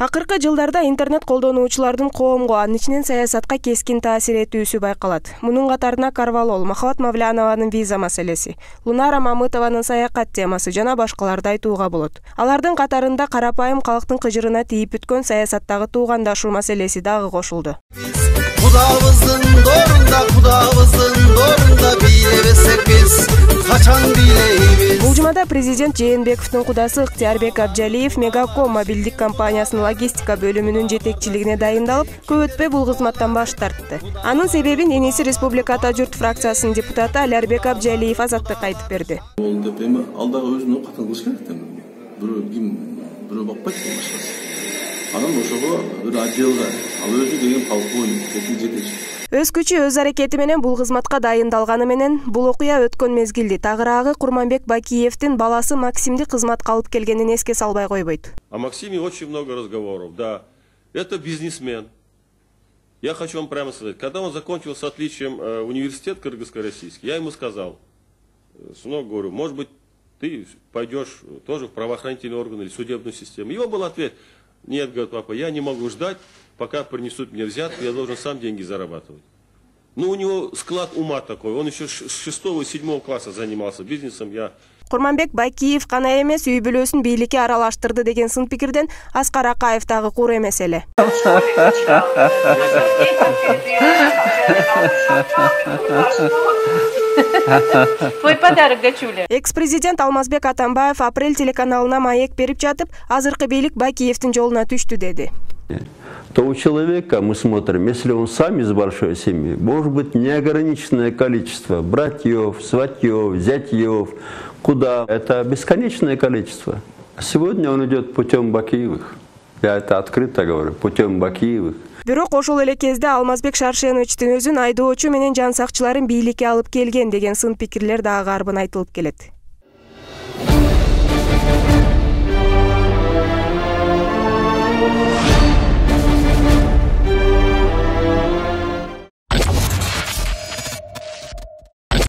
Акыркы жылдарда интернет колдонуучулардын коомго, анын ичинен саясатка кескин таасир этүүсү байкалат. Мунун катарына Карвалол, Махабат Мавлянованын виза маселеси, Лунара Мамытованын саякат темасы жана башкаларды айтууга болот. Алардын катарында карапайым калктын кыжырына тийип бүткөн саясаттагы туугандашуу маселеси дагы кошулду. Кудабыздын дорунда бийлебесек биз качан бийлейбиз. Бул жумада президент Жээнбековдун кудасы Ыктыярбек Абжалиев Мегаком мобилдик компаниясынын логистика бөлүмүнүн жетекчилигине дайындалып, көп өтпөй бул кызматтан баш тартты. Анын себебин Эниси Республиката журт фракциясынын депутаты Алярбек Абжалиев Азаттыкка айтып берди. Бул деп эми алдагы өзүнө катан кылыш керек да. Бирөө бакпайт башкасы. Анан ошого бир отделга ал өзү деген полковник, жетекчи. Өз күчү өз аракети менен бул кызматка дайындалганы менен бул окуя өткөн мезгилди тагыраагы Курманбек Бакиевдин баласы Максимди кызматка алып келгенин эске салбай койбойт. О Максиме очень много разговоров. Да, это бизнесмен. Я хочу вам прямо сказать, когда он закончил с отличием университет кыргызско-российский, я ему сказал, сынок, говорю, может быть, ты пойдешь тоже в правоохранительные органы или судебную систему. Его был ответ: нет, говорит папа, я не могу ждать, пока принесут мне взятку, я должен сам деньги зарабатывать. Ну, у него склад ума такой, он еще с 6-7 класса занимался бизнесом. Курманбек Бакиев гана эмес, үй бүлөсүн бийликке аралаштырды деген сын пикирден Аскар Акаев дагы кур эмес эле. Твой подарок, дочуля. Экс-президент Алмазбек Атамбаев Апрель телеканалына маек берип жатып, азыркы бийлик Бакиевдин жолуна түштү деди. То у человека мы смотрим, если он сам из большой семьи, может быть неограниченное количество братьев, сватьев, зятьев, куда это бесконечное количество. Сегодня он идет путем Бакиевых. Я это открыто говорю, путем Бакиевых. Бирок ошол эле кезде Алмазбек Шаршеновичтин өзүн айдоочу менен жан сакчыларын бийликке алып келген деген сын пикирлер дагы арбын айтылып келет.